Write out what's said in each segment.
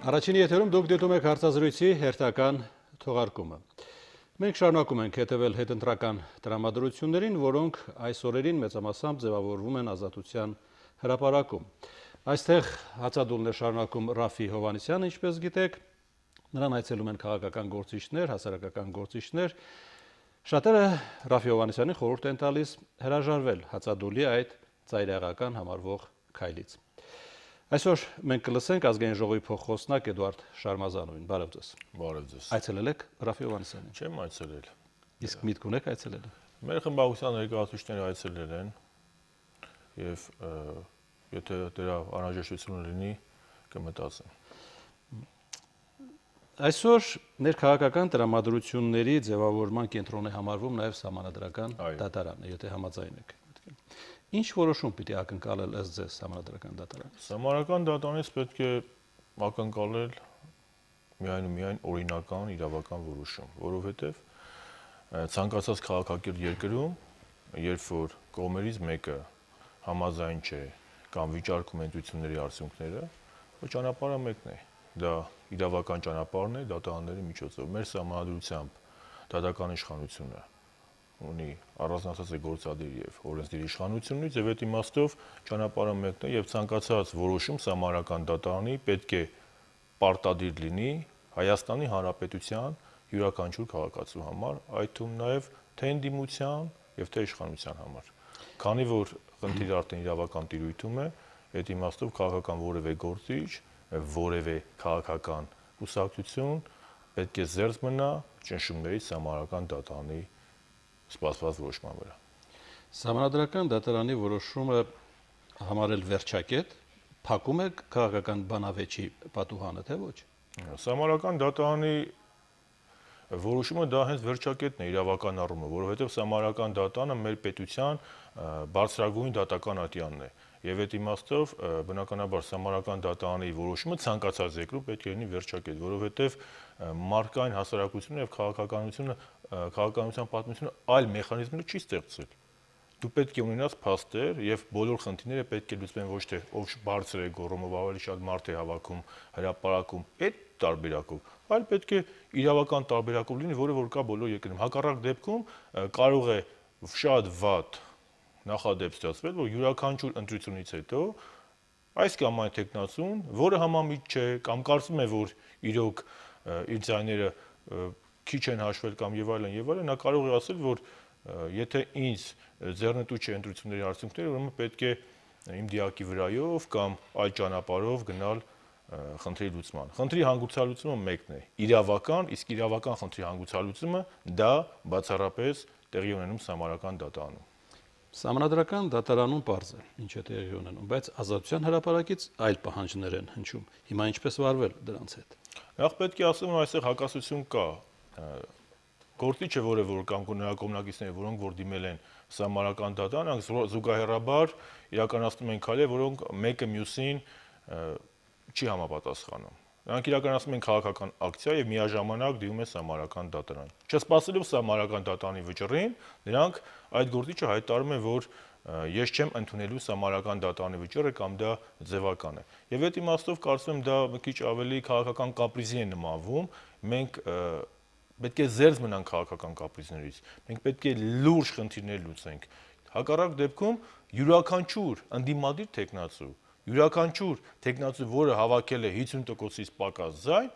Առաջին եթերում դուք դիտում եք հարցազրույցի հերթական թողարկումը։ Մենք շարունակում ենք հետևել հետընտրական տրամադրություններին, որոնք այս օրերին մեծամասամբ ձևավորվում են Ազատության հրապարակում։ Այստեղ հացադուլն է շարունակում Ռաֆի Հովհաննիսյանը, ինչպես գիտեք, նրան այցելում են քաղաքական գործիչներ, հասարակական գործիչներ։ Շատերը Ռաֆի Հովհաննիսյանին խորհուրդ են տալիս հրաժարվել հացադուլի այդ ծայրահեղական համարվող քայլից։ Այսօր մենք կլսենք ազգային ժողովի փոխխոսնակ Էդուարդ Շարմազանովին։ Բարև ձեզ։ Բարև ձեզ։ Այցելել եք Ռաֆի Հովհաննիսյանին։ Չեմ այցելել։ Իսկ միտք ունեք այցելել։ Մեր խմբակցության ներկայացուցիչները այցելել են եւ եթե դրա անհրաժեշտությունը լինի, կմտածեմ։ Այսօր ներքաղաքական տրամադրությունների ձևավորման կենտրոն է համարվում նաև Սահմանադրական դատարանը, եթե համաձայն եք։ Ինչ որոշում պիտի ակնկալել ըստ ձեզ Սահմանադրական դատարանից։ Սահմանադրական դատարանից պետք է ակնկալել միայն ու միայն օրինական իրավական որոշում, որովհետև ցանկացած քաղաքակիրթ երկրում, երբ որ կողմերից մեկը համաձայն չէ կամ վիճարկում ընտրությունների արդյունքները, ճանապարհը մեկն է։ Դա իրավական ճանապարհն է դատարանների միջոցով։ Մեր սահմանադրությամբ դատական իշխանությունը ունի առանձնացած է գործադիր եւ օրենսդիր իշխանությունից եւ այդ իմաստով ճանապարհը մեկն է եւ ցանկացած որոշում սահմանադրական դատարանի պետք է պարտադիր լինի Հայաստանի Հանրապետության յուրաքանչյուր քաղաքացու համար, այդ թվում նաեւ թե ընդդիմության եւ թե իշխանության համար։ Քանի որ խնդիրը արդեն իրավական տիրույթում է, այդ իմաստով քաղաքական որևէ գործիչ, որևէ քաղաքական կուսակցություն պետք է զերծ մնա ճնշումներից սահմանադրական դատարանի սպասված որոշման վրա։ Սահմանադրական դատարանի որոշումը համարել վերջակետ, փակում է քաղաքական բանավեճի պատուհանը, թե ոչ։ Սահմանադրական դատարանի որոշումը դա հենց վերջակետն է իրավական առումով, որովհետև սահմանադրական դատարանը մեր պետության բարձրագույն դատական ատյանն է։ Եվ այդ իմաստով բնականաբար սահմանադրական դատարանի որոշումը ցանկացած երկրում պետք է լինի վերջակետ, որովհետև մարդկային հասարակությունը եւ քաղաքականության պատմությունը այլ մեխանիզմներ չի ստեղծել։ Դու պետք է ունենաս փաստեր եւ բոլոր խնդիրները պետք է լուծվեն ոչ թե ով բարձր է գոռում, ով ավելի շատ մարդ է հավաքում, հրապարակում, այդ տարբերակով, այլ պետք է իրավական տարբերակով լինի, որը որ կա բոլոր երկրներում։ Հակառակ դեպքում կարող է շատ վատ նախադեպ ստացվել, որ յուրաքանչյուր ընտրությունից հետո այս կամ այն տեխնացուն, որը համամիտ չէ կամ կարծում է, որ իրոք իր ձայները քիչ են հաշվել կամ եւ այլն, նա կարող է ասել, որ եթե ինձ ձեռնտու չէ ընտրությունների արդյունքները, ուրեմն պետք է իմ դիակի վրայով կամ այլ ճանապարհով գնալ խնդրի լուծման։ Խնդրի հանգուցալուծումը մեկն է, իրավական, իսկ իրավական խնդրի հանգուցալուծումը դա բացառապես տեղի ունենում սահմանադրական դատարանում։ Սահմանադրական դատարանում պարզ է, ինչ է տեղի ունենում, բայց Ազատության հրապարակից այլ պահանջներ են հնչում։ Հիմա ինչպես վարվել դրանց հետ։ Նախ պետք է ասեմ, որ այստեղ հակասություն կա։ Գործիչը, որը որ կամ նրա կողմնակիցները, որոնք որ դիմել են սահմանադրական դատարան, զուգահեռաբար իրականացնում են քայլեր, որոնք մեկը մյուսին չի համապատասխանում։ Նրանք իրականացնում են քաղաքական ակցիա եւ միաժամանակ դիմում են սահմանադրական դատարան։ Չսպասելով սահմանադրական դատարանի վճռին, նրանք այդ գործիչը հայտարարում են, որ ես չեմ ընդունելու սահմանադրական դատարանի վճիռը կամ դա ձևական է։ Եվ այդ իմաստով կարծում եմ դա մի քիչ ավելի քաղաքական կապրիզի է նմանվում։ Մենք պետք է զերծ մնանք քաղաքական կապրիզներից։ Մենք պետք է լուրջ խնդիրներ լուծենք։ Հակառակ դեպքում յուրաքանչյուր ընդդիմադիր տեխնացու, յուրաքանչյուր տեխնացու, որը հավաքել է 50%-ից պակաս ձայն,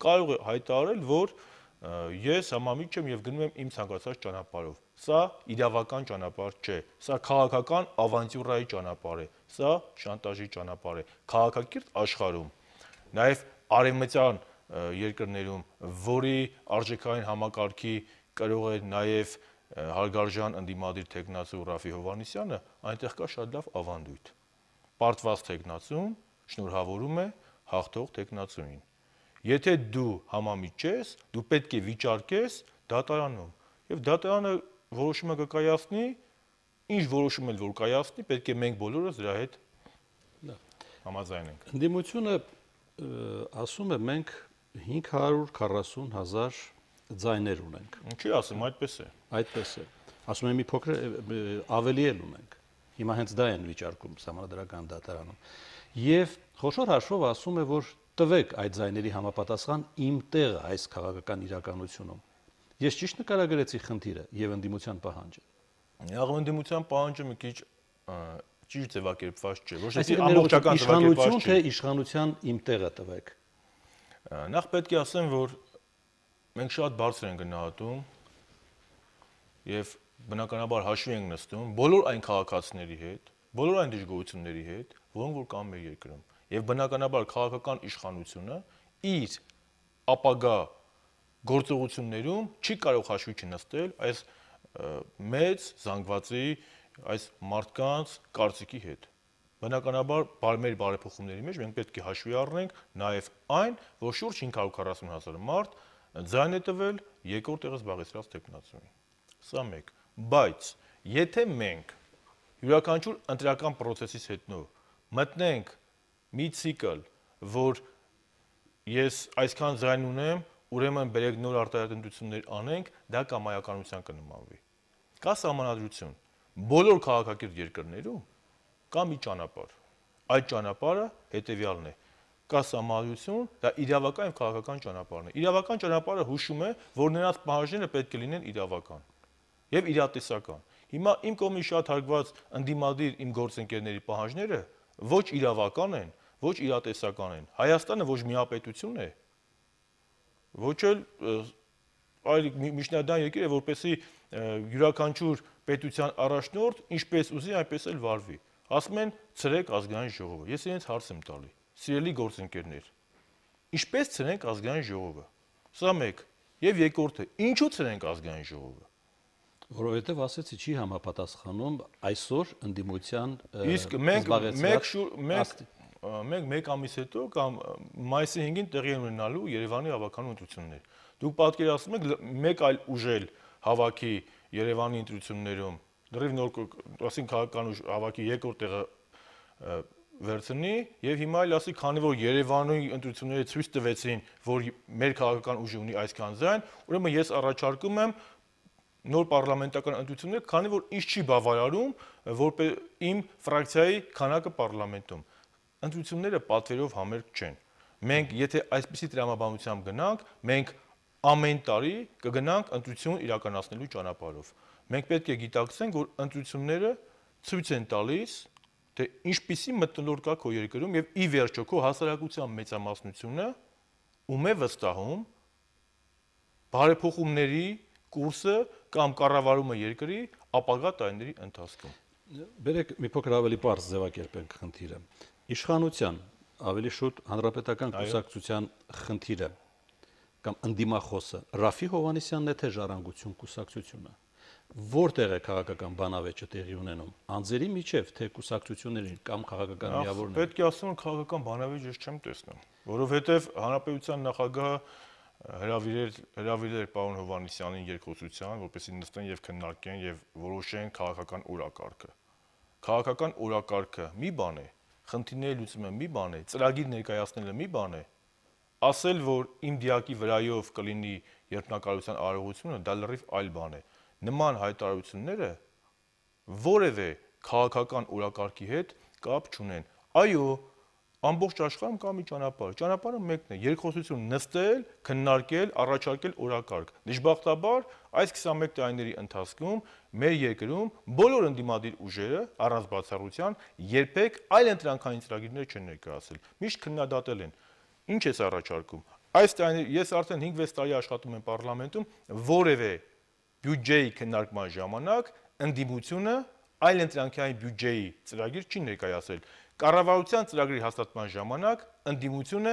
կարող է հայտարարել, որ ես համամիտ չեմ եւ գնում եմ իմ ցանկացած ճանապարհով։ Սա իրավական ճանապարհ չէ։ Սա քաղաքական ավանտյուրայի ճանապարհ է։ Սա շանտաժի ճանապարհ է։ Քաղաքակիրթ աշխարհում, նաեւ արևմտյան երկրներում, որի արժեքային համակարգի կրող է նաեւ հարգարժան ընդդիմադիր տեխնացու Ռաֆի Հովհաննիսյանը, այնտեղ կա շատ լավ ավանդույթ։ Պարտված տեխնացուն շնորհավորում է հաղթող տեխնացուին։ Եթե դու համամիտ ես, դու պետք է վիճարկես դատարանում, եւ դատարանը որոշումը կկայացնի, ինչ որոշում էլ որ կայացնի, պետք է մենք բոլորս դրա հետ համաձայնենք։ Ընդդիմությունը ասում է մենք 540,000 ձայներ ունենք։ Ինչի ասում, այդպես է։ Այդպես է։ Ասում եմ մի փոքր ավելի էլ ունենք։ Հիմա հենց դա են վիճարկում սահմանադրական դատարանում։ Եվ խոշոր հաշվով ասում է, որ տվեք այդ ձայների համապատասխան իմ տեղը այս քաղաքական իրականությունում։ Ես ճիշտ նկարագրեցի խնդիրը եւ ընդդիմության պահանջը։ Ընդդիմության պահանջը մի քիչ ճիշտ ձևակերպված չէ, որովհետեւ Այսինքն ամբողջական իշխանություն ձևակերպված թե չէ։ իշխանության իմ տեղը տվեք։ Նախ պետք է ասեմ, որ մենք շատ բարձր ենք գնահատում եւ բնականաբար հաշվի ենք նստում բոլոր այն քաղաքացիների հետ, բոլոր այն դժգոհությունների հետ, որոնք որ կան մեր երկրում։ Եվ բնականաբար քաղաքական իշխանությունը իր ապագա գործողություններում չի կարող հաշվի չնստել այս մեծ զանգվածի, այս մարդկանց կարծիքի հետ։ Բնականաբար մեր բարեփոխումների մեջ մենք պետք է հաշվի առնենք նաև այն, որ շուրջ 540,000 մարդ ձայն է տվել երկրորդ տեղը զբաղեցրած տեխնացուին։ Սա մեկ, բայց եթե մենք յուրաքանչյուր ընտրական process-ից հետո մտնենք մի ցիկլ, որ ես այսքան ձայն ունեմ, ուրեմն բերեք նոր արտահայտություններ անենք, դա կամայականության կնմանվի։ Կա սահմանադրություն։ Բոլոր քաղաքակիրթ երկրներում կա մի ճանապարհ։ Այդ ճանապարհը հետևյալն է. կա սահմանադրություն, դա իրավական եւ քաղաքական ճանապարհն է։ Իրավական ճանապարհը հուշում է, որ նրանց պահանջները պետք է լինեն իրավական եւ իրատեսական։ Հիմա իմ կողմից շատ հարգված ընդդիմադիր իմ գործընկերների պահանջները ոչ իրավական են, ոչ իրատեսական են։ Հայաստանը ոչ միապետություն է, ոչ էլ այլ միջնադարյան երկիր է, որպեսզի յուրաքանչյուր պետության առաջնորդ ինչպես ուզի, այնպես էլ վարվի։ Ասում են ցրեք ազգային ժողովը։ Ես իրենց հարց եմ տալի. Սիրելի գործընկերներ, ինչպես ցրենք ազգային ժողովը։ Սա մեկ։ Եվ երկրորդը, ինչու ցրենք ազգային ժողովը։ Որովհետև ասեցի չի համապատասխանում այսօր ընդդիմության իսկ մենք մեկ ամիս հետո կամ մայիսի 5-ին տեղի են ունենալու Երևանի ավականու ընտրություններ։ Դուք պատկերացնում եք մեկ այլ ուժել հավաքի Երևանի ընտրություններում, դեռ նոր ասին քաղաքական ուժ հավաքի երկրորդ տեղը վերցնի եւ հիմա էլ ասի, քանի որ Երևանի ընտրությունները ցույց տվեցին, որ մեր քաղաքական ուժը ունի այսքան ձայն, ուրեմն ես առաջարկում եմ նոր պարլամենտական ընտրություններ, քանի որ ինչ չի բավարարում, որպես իմ ֆրակցիայի քանակը պարլամենտում։ Ընտրությունները պատվերով համերգ չեն։ Մենք եթե այսպիսի տրամաբանությամբ գնանք, մենք ամեն տարի կգնանք ընտրություն իրականացնելու ճանապարհով։ Մենք պետք է գիտակցենք, որ ընտրությունները ցույց են տալիս, թե ինչպիսի մթնոլորտ կա քո երկրում եւ ի վերջո քո հասարակության մեծամասնությունը ում է վստահում բարեփոխումների կուրսը կամ կառավարումը երկրի ապագա տարիների ընթացքում։ Բերեք մի փոքր ավելի པարզ ձևակերպենք խնդիրը։ Իշխանության, ավելի շուտ հանրապետական կուսակցության խնդիրը կամ ընդդիմախոսը Ռաֆի Հովհաննիսյանն է թե Ժառանգություն կուսակցությունը։ Որտեղ է քաղաքական բանավեճը տեղի ունենում։ Անձերի միջև թե կուսակցություններին կամ քաղաքական միավորներին։ Պետք է ասեմ, քաղաքական բանավեճ ես չեմ տեսնում, որովհետև հանրապետության նախագահը հրավիրել պարոն Հովհաննիսյանին երկխոսության, որպեսզի նստեն եւ քննարկեն եւ որոշեն քաղաքական օրակարգը։ Քաղաքական օրակարգը մի բան է, խնդիրների լուծումը մի բան է, ծրագիր ներկայացնելը մի բան է, ասել, որ իմ դիակի վրայով կլինի երթնակալության արարողությունը, դա լրիվ այլ բան է։ Նման հայտարարությունները որևէ քաղաքական օրակարգի հետ կապ չունեն։ Այո, ամբողջ աշխարհում կա մի ճանապարհ։ Ճանապարհը մեկն է՝ երկխոսություն նստել, քննարկել, առաջարկել օրակարգ։ Դժբախտաբար, այս 21 տարիների ընթացքում մեր երկրում բոլոր ընդդիմադիր ուժերը, առանց բացառության, երբեք այլ ընտրանքային ծրագիրներ չեն ներկայացրել։ Միշտ քննադատել են։ Ինչ ես առաջարկում։ Այս տարիների ես արդեն 5-6 տարի աշխատում եմ պարլամենտում, որևէ բյուջեի քննարկման ժամանակ ընդդիմությունը այլ ընտրանքային բյուջեի ծրագիր չի ներկայացրել։ Կառավարության ծրագրի հաստատման ժամանակ ընդդիմությունը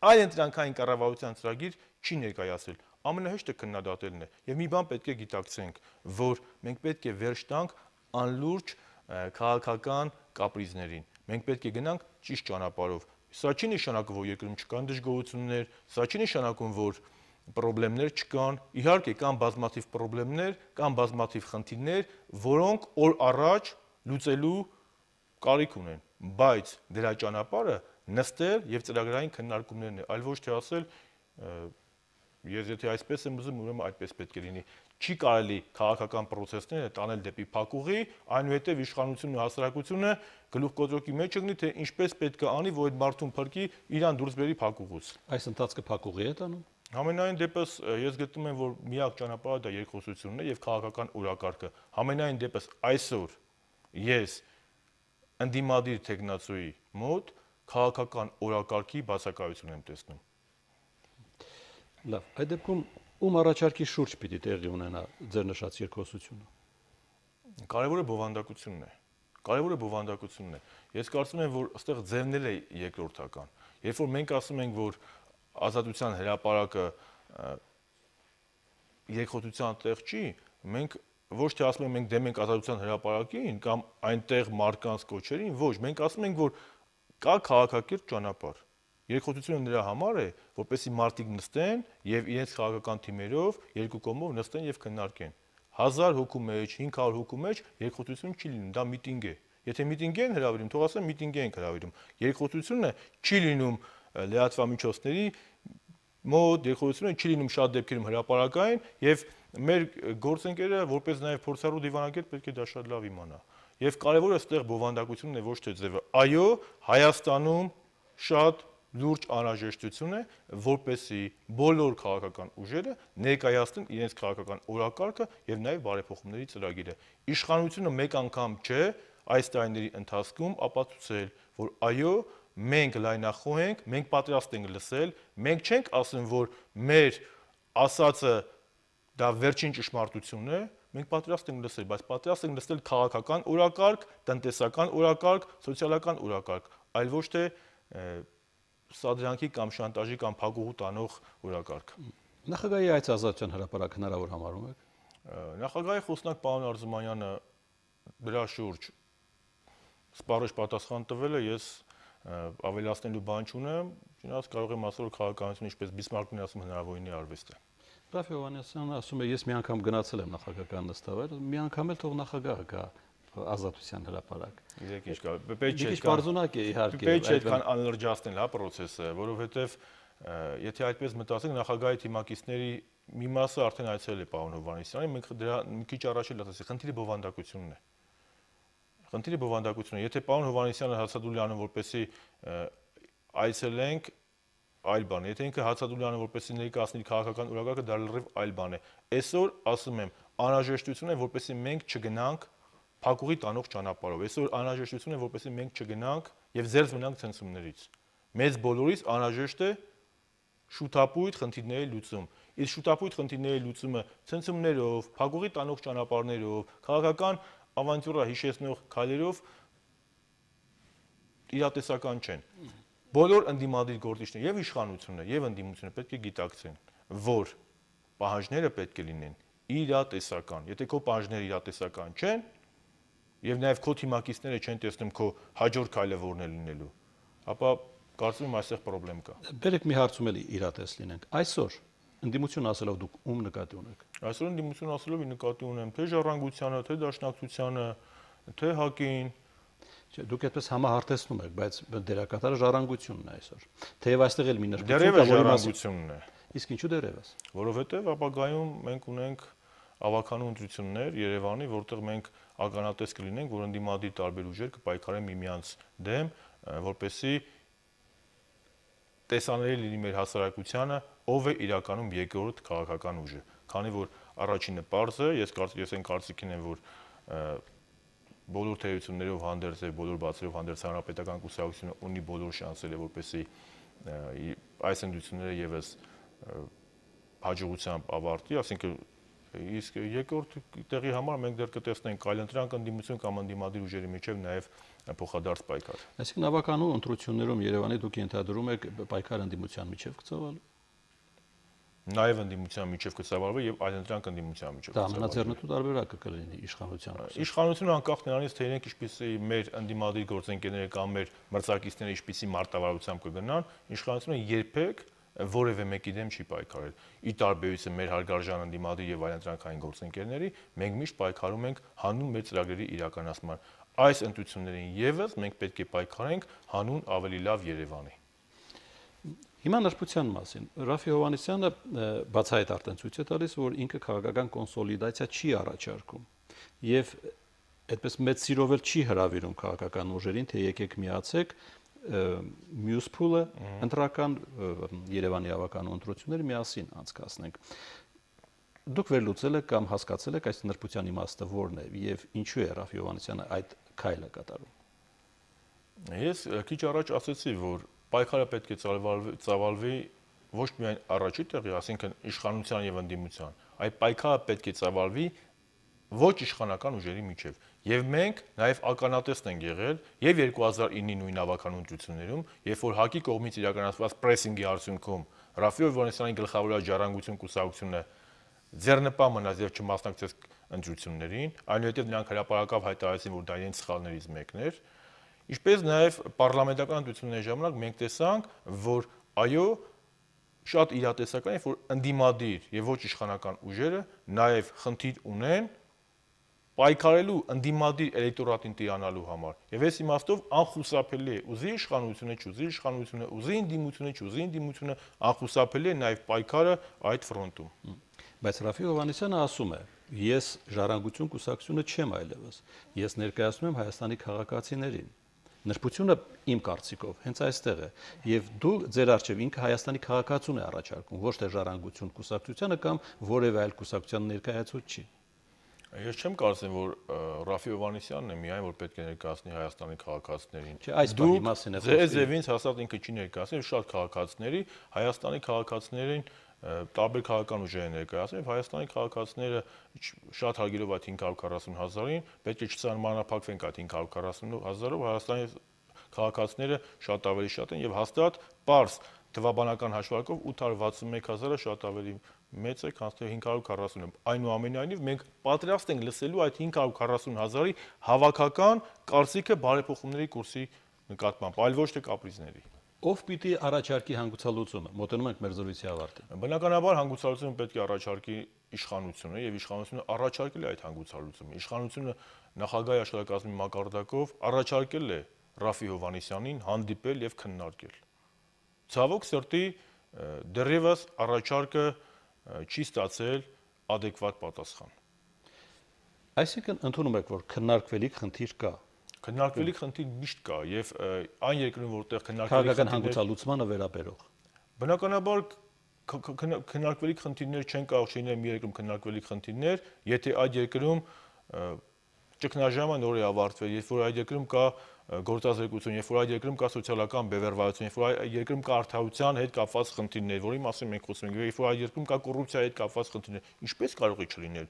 այլ ընտրանքային կառավարության ծրագիր չի ներկայացրել։ Ամենահեշտը քննադատելն է։ Եվ մի բան պետք է գիտակցենք, որ մենք պետք է վերջ տանք անլուրջ քաղաքական կապրիզներին։ Մենք պետք է գնանք ճիշտ ճանապարհով։ Սա չի նշանակում, որ երկրում չկան դժգոհություններ, սա չի նշանակում, որ պրոբլեմներ չկան։ Իհարկե կան բազմաթիվ պրոբլեմներ, կան բազմաթիվ խնդիրներ, որոնք օր առաջ լուծելու կարիք ունեն, բայց դրա ճանապարհը նստել եւ ծրագրային քննարկումներն է, այլ ոչ թե ասել Ես եթե այսպես եմ ուզում, ուրեմն այդպես պետք է լինի։ Չի կարելի քաղաքական process-ները տանել դեպի փակուղի, այնուհետև իշխանությունն ու հասարակությունը գլուխգործոկի մեջ ընկնի, թե ինչպես պետք է անի, որ այդ մարդուն փրկի իրան դուրս բերի փակուղուց։ Այս ընթացքը փակուղի է տանում։ Համենայն դեպս ես գտնում եմ, որ միակ ճանապարհը դա երկխոսությունն է եւ քաղաքական օրակարգը։ Համենայն դեպս այսօր ես ընդդիմադիր տեխնացուի մոտ քաղաքական օրակարգի բացակայություն եմ տեսնում։ Լավ, այդ դեպքում ում առաջարկի շուրջ պիտի տեղի ունենա ձեր նշած երկխոսությունը։ Կարևորը բովանդակությունն է։ Կարևորը բովանդակությունն է։ Ես կարծում եմ, որ այստեղ ձևնել է երկրորդական։ Երբ որ մենք ասում ենք, որ ազատության հրապարակը երկխոսության տեղ չի, մենք ոչ թե ասում ենք մենք դեմ ենք ազատության հրապարակին կամ այնտեղ մարկանց կոչերին, ոչ, մենք ասում ենք, որ կա քաղաքակիրթ ճանապարհ։ Երկխոսությունը նրա համար է, որպեսզի մարդիկ նստեն եւ իրենց քաղաքական թիմերով երկու կողմով նստեն եւ քննարկեն։ 1000 հոգու մեջ, 500 հոգու մեջ երկխոսություն չի լինում, դա միտինգ է։ Եթե միտինգ են հրավիրում, թող ասեն միտինգ են հրավիրում։ Երկխոսությունը չի լինում լրատվամիջոցների մոտ, երկխոսությունը չի լինում շատ դեպքերում հրապարակային եւ մեր գործընկերը, որպես նաեւ փորձառու դիվանագետ, պետք է դա շատ լավ իմանա։ Եվ կարևորը այստեղ բովանդակությունն է, ոչ թե ձևը։ Այո, Հայաստանում շատ լուրջ անհրաժեշտություն է, որպեսզի բոլոր քաղաքական ուժերը ներկայացնեն իրենց քաղաքական օրակարգը եւ նաեւ բարեփոխումների ծրագիրը։ Իշխանությունը մեկ անգամ չէ այս տարիների ընթացքում ապացուցել, որ այո, մենք լայնախոհ ենք, մենք պատրաստ ենք լսել, մենք չենք ասում, որ մեր ասածը դա վերջին ճշմարտությունն է, մենք պատրաստ ենք լսել, բայց պատրաստ ենք լսել քաղաքական օրակարգ, տնտեսական օրակարգ, սոցիալական օրակարգ, այլ ոչ թե սադրանքի կամ շանտաժի կամ փակուղու տանող օրակարգ։ Նախագահի այս ազատության հրապարակ հնարավոր համարում եք։ Նախագահի խոսնակ պարոն Արզումանյանը դրա շուրջ սպառիչ պատասխան տվել է, ես ավելացնելու բան չունեմ, չնայած կարող եմ ասել, որ քաղաքականությունը ինչպես Բիսմարկն ասում հնարավորինի արվեստ է։ Ռաֆ Հովհաննիսյանը ասում է, ես մի անգամ գնացել եմ նախագահական նստավայր, մի անգամ էլ թող նախագահը գա ազատության հրապարակ։ Գիտեք ինչ կա, պետք չէ պարզունակ է իհարկե։ Պետք չէ այդքան անլրջացնել հա process-ը, որովհետև եթե այդպես մտածենք, նախագահի թիմակիցների մի մասը արդեն այցելել է պարոն Հովհաննիսյանին, մենք դրա մի քիչ առաջ էլ ասացի, խնդիրը բովանդակությունն է։ Խնդիրը բովանդակությունն է։ Եթե պարոն Հովհաննիսյանը հացադուլ անում, որպեսզի այցելենք, այլ բան է։ Եթե ինքը հացադուլ անում, որպեսզի ներկայացնի քաղաքական օրակարգը, դա լրիվ այլ բան է։ Այսօր ասում եմ, անհրաժեշտություն է, որպեսզի մենք չգնանք փակուղի տանող ճանապարհով։ Այսօր անհրաժեշտություն է, որպեսզի մենք չգնանք եւ զերծ մնանք ցնցումներից։ Մեզ բոլորիս անհրաժեշտ է շուտապույտ խնդիրների լուծում։ Իսկ շուտապույտ խնդիրների լուծումը ցնցումներով, փակուղի տանող ճանապարհներով, քաղաքական ավանտյուրա հիշեցնող քայլերով իրատեսական չեն։ Բոլոր ընդդիմադիր գործիչները եւ իշխանությունը եւ ընդդիմությունը պետք է գիտակցեն, որ պահանջները պետք է լինեն իրատեսական։ Եթե քո պահանջները իրատեսական չեն, եւ նաեւ քո թիմակիցները չեն տեսնում քո հաջորդ քայլը որն է լինելու, ապա կարծում եմ այստեղ խնդրեմ կա։ Բերեք մի հարցում էլի իրատես լինենք։ Այսօր ընդդիմություն ասելով դուք ում նկատի ունեք։ Այսօր ընդդիմություն ասելով նկատի ունեմ թե Ժառանգությանը, թե Դաշնակցությանը, թե ՀԱԿ-ին։ Չէ, դուք այդպես համահարթեցնում եք, բայց դերակատարը Ժառանգությունն է այսօր։ Թեև այստեղ էլ մի նշություն կա, որ Ժառանգությունն է։ Իսկ ինչու դերևս։ Որովհետեւ ապագայում մենք ունենք ավականու ընտրություններ Երևանի, որտեղ մենք ականատես կլինենք, որ ընդդիմադիր տարբեր ուժեր կպայքարեն միմյանց դեմ, որպեսզի տեսանելի լինի մեր հասարակությանը, ով է իրականում երկրորդ քաղաքական ուժը։ Քանի որ առաջինը պարզ է, ես այն կարծիքին եմ, որ բոլոր թերություններով հանդերձ եւ բոլոր բացերով հանդերձ հանրապետական կուսակցությունը ունի բոլոր շանսերը, որպեսզի այս ընտրությունները եւս հաջողությամբ ավարտի, ասինքն իսկ երկրորդ տեղի համար մենք դեռ կտեսնենք այլընտրանք ընդդիմություն կամ ընդդիմադիր ուժերի միջև նաեւ փոխադարձ պայքար։ Այսինքն ավականու ընտրություններում Երևանի դուք ենթադրում եք պայքար ընդդիմության միջև կծավալու։ Նաեւ ընդդիմության միջև կծավալվի եւ այլընտրանք ընդդիմության միջև։ Դա ամենաձեռնտու տարբերակը կլինի իշխանության։ Իշխանությունը անկախ նրանից, թե իրենք ինչպիսի մեր ընդդիմադիր գործընկերները կամ մեր մրցակիցները ինչպիսի մարտավարությամբ կգնան, իշխանությունը երբեք որևէ մեկի դեմ չի պայքարել։ Ի տարբերություն մեր հարգարժան ընդդիմադիր եւ այլընտրանքային գործընկերների, մենք միշտ պայքարում ենք հանուն մեր ծրագրերի իրականացման։ Այս ընտրություններին եւս մենք պետք է պայքարենք հանուն ավելի լավ Երևանի։ Հիմա նրբության մասին Ռաֆի Հովհաննիսյանը բացահայտ արդեն ցույց է տալիս, որ ինքը քաղաքական կոնսոլիդացիա չի առաջարկում եւ այդպես մեծ սիրով էլ չի հրավիրում քաղաքական ուժերին, թե եկեք միացեք մյուս փուլը ընտրական Երևանի ավականու ընտրությունները միասին անցկացնենք։ Դուք վերլուծել եք կամ հասկացել եք այս նրբության իմաստը որն է եւ ինչու է Ռաֆի Հովհաննիսյանը այդ քայլը կատարում։ Ես քիչ առաջ ասացի, որ պայքարը պետք է ծավալվի ոչ միայն առաջի տեղի, ասինքն իշխանության եւ ընդդիմության, այլ պայքարը պետք է ծավալվի ոչ իշխանական ուժերի միջև։ Եվ մենք նաեւ ականատեսն ենք եղել եւ 2009-ի նույն ավականու ընտրություններում, երբ որ ՀԱԿ-ի կողմից իրականացված պրեսինգի արդյունքում Ռաֆի Հովհաննիսյանի գլխավորած Ժառանգություն կուսակցությունը ձեռնպահ մնաց եւ չմասնակցեց ընտրություններին, այնուհետեւ նրանք հրապարակավ հայտարարեցին, որ դա իրենց սխալներից մեկն էր։ Ինչպես նաև պարլամենտական ընտրությունների ժամանակ մենք տեսանք, որ այո, շատ իրատեսական է, որ ընդդիմադիր եւ ոչ իշխանական ուժերը նաև խնդիր ունեն պայքարելու ընդդիմադիր էլեկտորատին տիրանալու համար։ Եվ այս իմաստով անխուսափելի է ուզի իշխանությունը, չուզի իշխանությունը, ուզի ընդդիմությունը, չուզի ընդդիմությունը, անխուսափելի է նաև պայքարը այդ ֆրոնտում։ Բայց Ռաֆի Հովհաննիսյանը ասում է. ես Ժառանգություն կուսակցությունը չեմ այլևս, ես ներկայացնում եմ Հայաստանի քաղաքացիներին։ Նրբությունը իմ կարծիքով հենց այստեղ է եւ դու ձեր արժեվ ինքը Հայաստանի քաղաքացուն է առաջարկում ոչ թե Ժառանգություն կուսակցությանը կամ որևէ այլ կուսակցության ներկայացուցիչ չի։ Ես չեմ կարծում, որ Ռաֆի Հովհաննիսյանն է միայն որ պետք է ներկայացնի Հայաստանի քաղաքացիներին։ Չէ, այս բանի մասին է խոսքը։ Ձեզ հաստատ ինքը չի ներկայացնում, շատ քաղաքացիների, Հայաստանի քաղաքացիներին տարբեր քաղաքական ուժեր ներկայացնում եւ Հայաստանի քաղաքացիները շատ հարգելով այդ 540,000-ին պետք է չսահմանափակվենք այդ 540,000-ով, Հայաստանի քաղաքացիները շատ ավելի շատ են եւ հաստատ պարզ թվաբանական հաշվարկով 861,000-ը շատ ավելի մեծ է, քան թե 540-ը։ Այնուամենայնիվ մենք պատրաստ ենք լսելու այդ 540,000-ի հավաքական կարծիքը բարեփոխումների կուրսի նկատմամբ, այլ ոչ թե կապրիզների։ Ով պիտի առաջարկի հանգուցալուծումը։ Մոտենում ենք մեր զրույցի ավարտին։ Բնականաբար հանգուցալուծումը պետք է առաջարկի իշխանությունը եւ իշխանությունը առաջարկել է այդ հանգուցալուծումը։ Իշխանությունը նախագահի աշխատակազմի մակարդակով առաջարկել է Ռաֆի Հովհաննիսյանին հանդիպել եւ քննարկել։ Ցավոք սրտի դեռևս առաջարկը չի ստացել adekvat պատասխան։ Այսինքն ընդունում եք, որ քննարկվելիք խնդիր կա։ Քննարկվելիք խնդիր միշտ կա եւ այն երկրում, որտեղ քաղաքական հանգուցալուծմանը վերաբերող։ Բնականաբար քննարկվելիք խնդիրներ չեն կարող լինել մի երկրում քննարկվելիք խնդիրներ, եթե այդ երկրում ճգնաժամը նոր է ավարտվել, երբ որ այդ երկրում կա գործազրկություն, երբ որ այդ երկրում կա սոցիալական բևեռվածություն, երբ որ այդ երկրում կա արդարության հետ կապված խնդիրներ, որի մասին մենք խոսում ենք, երբ որ այդ երկրում կա կոռուպցիայի հետ կապված խնդիրներ, ինչպես կարող է չլինել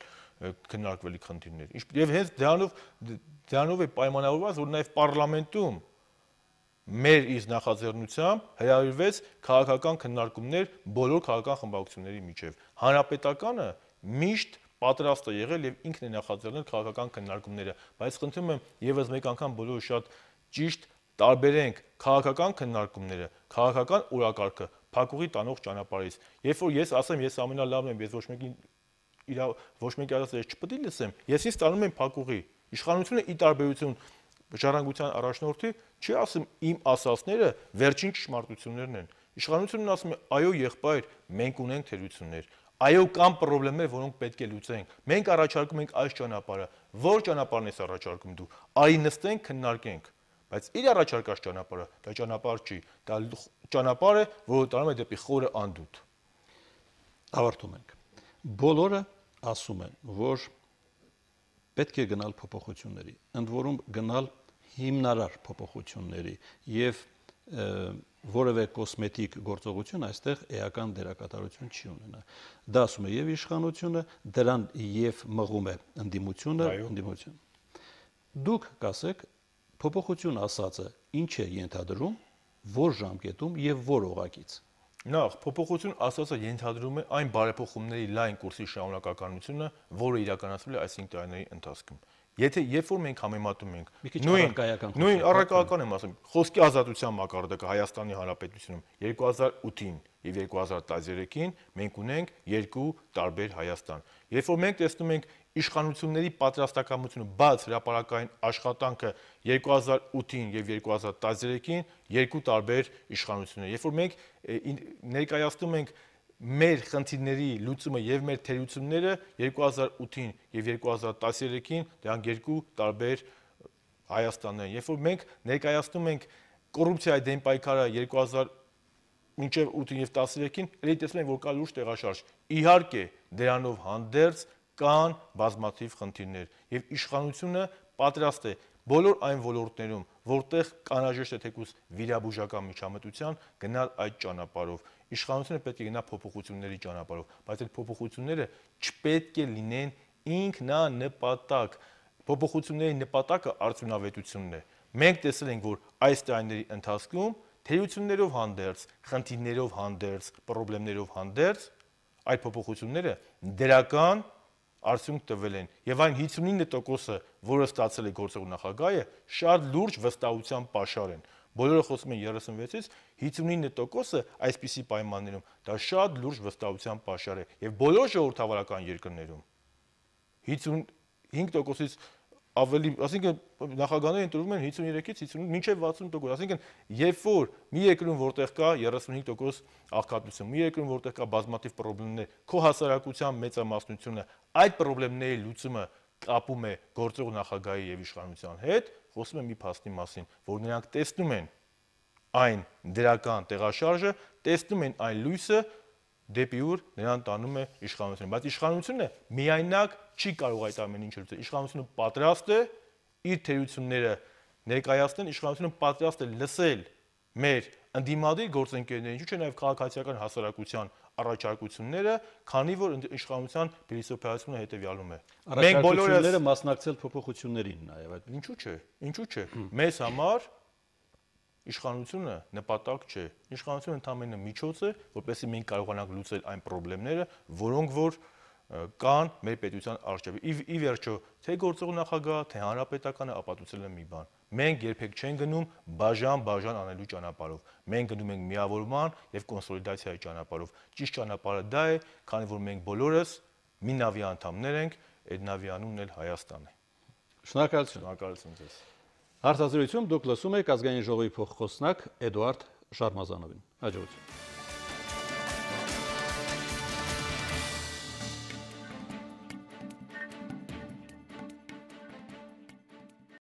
քննարկվելիք խնդիրներ։ Եվ հենց դրանով է պայմանավորված, որ նաև պարլամենտում մեր իսկ նախաձեռնությամբ հրավիրվեց քաղաքական քննարկումներ բոլոր քաղաքական խմբակցությունների միջև։ Հանրապետականը միշտ պատրաստ է եղել եւ ինքն է նախաձեռնել քաղաքական քննարկումները, բայց խնդրում եմ եւս մեկ անգամ բոլորը շատ ճիշտ տարբերենք քաղաքական քննարկումները, քաղաքական օրակարգը փակուղի տանող ճանապարհից։ Երբ որ ես ասեմ, ես ամենալավն եմ, ես ոչ մեկի ասած ես չպետք է լսեմ, ես ինձ տանում եմ փակուղի։ Իշխանությունը ի տարբերություն ժառանգության առաջնորդի չի ասում իմ ասածները վերջին ճշմարտություններն են։ Իշխանությունն ասում է այո եղբայր, մենք ունենք թերություններ։ Այո կան խնդիրներ, որոնք պետք է լուծենք։ Մենք առաջարկում ենք այս ճանապարհը։ Որ ճանապարհն ես առաջարկում դու։ Արի նստենք, քննարկենք։ Բայց իր առաջարկած ճանապարհը դա ճանապարհ չի։ Դա ճանապարհ է, որը տանում է դեպի խորը անդուտ։ Ավարտում ենք։ Բոլորը ասում են, որ պետք է գնալ փոփոխությունների, ընդ որում գնալ հիմնարար փոփոխությունների եւ որևէ կոսմետիկ գործողություն այստեղ էական դերակատարություն չի ունենա։ Դա ասում է եւ իշխանությունը, դրան եւ մղում է ընդդիմությունը, Դուք կասեք, փոփոխություն ասածը ինչ է ենթադրում, որ ժամկետում եւ որ օղակից։ Նախ փոփոխություն ասածը ենթադրում է այն բարեփոխումների լայն կուրսի շարունակականությունը, որը իրականացվել է այս 5 տարիների ընթացքում։ Եթե երբ որ մենք համեմատում ենք Մի քիչ առարկայական նույն առարկայական եմ ասում, խոսքի ազատության մակարդակը Հայաստանի Հանրապետությունում 2008-ին եւ 2013-ին մենք ունենք երկու տարբեր Հայաստան։ Երբ որ մենք տեսնում ենք իշխանությունների պատրաստակամությունը բաց հրապարակային աշխատանքը 2008-ին եւ 2013-ին երկու տարբեր իշխանություններ։ Երբ որ մենք ներկայացնում ենք մեր խնդիրների լուծումը եւ մեր թերությունները 2008-ին եւ 2013-ին դրանք երկու տարբեր Հայաստաններ են։ Երբ որ մենք ներկայացնում ենք կոռուպցիայի դեմ պայքարը 2000 մինչև 8-ին եւ 13-ին, ելի տեսնում ենք, որ կա լուրջ տեղաշարժ։ Իհարկե, դրանով հանդերձ կան բազմաթիվ խնդիրներ եւ իշխանությունը պատրաստ է բոլոր այն ոլորտներում, որտեղ կանաժեշտ է թեկուզ վիրաբուժական միջամտության, գնալ այդ ճանապարհով։ Իշխանությունը պետք է գնա փոփոխությունների ճանապարհով, բայց այդ փոփոխությունները չպետք է լինեն ինքնանպատակ։ Փոփոխությունների նպատակը արդյունավետությունն է։ Մենք տեսել ենք, որ այս տարիների ընթացքում թերություններով հանդերձ, խնդիրներով հանդերձ, խնդիրներով հանդերձ այդ փոփոխությունները դրական արդյունք տվել են եւ այն 59%-ը, որը ստացել է գործող նախագահը, շատ լուրջ վստահության պաշար են։ Բոլորը խոսում են 36-ից, 59%-ը այսպիսի պայմաններում դա շատ լուրջ վստահության պաշար է եւ բոլոր ժողովրդավարական երկրներում 55%-ից ավելի, այսինքն նախագահները ընտրվում են 53-ից 55 մինչև 60%, այսինքն երբ որ մի երկրում որտեղ կա 35% աղքատություն, մի երկրում որտեղ կա բազմաթիվ խնդիրներ, քո հասարակության մեծամասնությունը այդ խնդիրների լուծումը կապում է գործող նախագահի եւ իշխանության հետ, խոսում եմ մի փաստի մասին, որ նրանք տեսնում են այն դրական տեղաշարժը, տեսնում են այն լույսը, դեպի ուր նրան տանում է իշխանությունը, բայց իշխանությունը միայնակ չի կարող այդ ամեն ինչը լուծել։ Իշխանությունը պատրաստ է իր թերությունները ներկայացնել, իշխանությունը պատրաստ է լսել մեր ընդդիմադիր գործընկերներին, ինչու՞ չէ նաև քաղաքացիական հասարակության առաջարկությունները, քանի որ իշխանության փիլիսոփայությունը հետևյալում է։ Մենք բոլորը մասնակցել փոփոխություններին նաև այդ Ինչու՞ չէ։ Մեզ համար իշխանությունը նպատակ չէ։ Իշխանությունը ընդամենը միջոց է, որպեսզի մենք կարողանանք լուծել այն խնդիրները, որոնք որ կան մեր պետության առջև։ Ի վերջո, թե գործող նախագահը, թե հանրապետականը ապացուցել են մի բան։ Մենք երբեք չենք գնում բաժան անելու ճանապարհով։ Մենք գնում ենք միավորման եւ կոնսոլիդացիայի ճանապարհով։ Ճիշտ ճանապարհը դա է, քանի որ մենք բոլորս մի նավի անդամներ ենք, այդ նավի անունն էլ Հայաստան է։ Շնորհակալություն։ Շնորհակալություն ձեզ։ Հարցազրույցում դուք լսում եք ազգային ժողովի փոխխոսնակ Էդուարդ Շարմազանովին։ Հաջողություն։